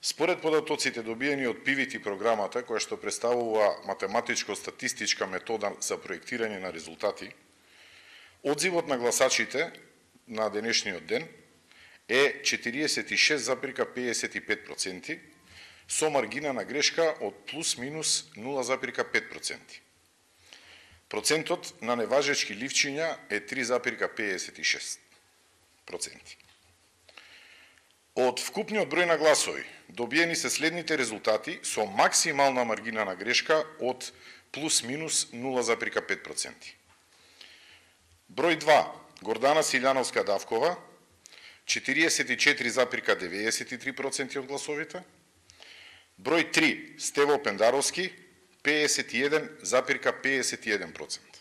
Според податоците добиени од PVT програмата, која што представува математичко-статистичка метода за проектирање на резултати, одзивот на гласачите на денешниот ден е 46,55%, со маргина на грешка од плюс-минус 0,5%. Процентот на неважечки ливчиња е 3,56%. Од вкупниот број на гласови, добиени се следните резултати со максимална маргина на грешка од плюс-минус 0,5%. Број 2, Гордана Силјановска Давкова, 44,93% од гласовите. Број 3, Стево Пендаровски, 51,51%.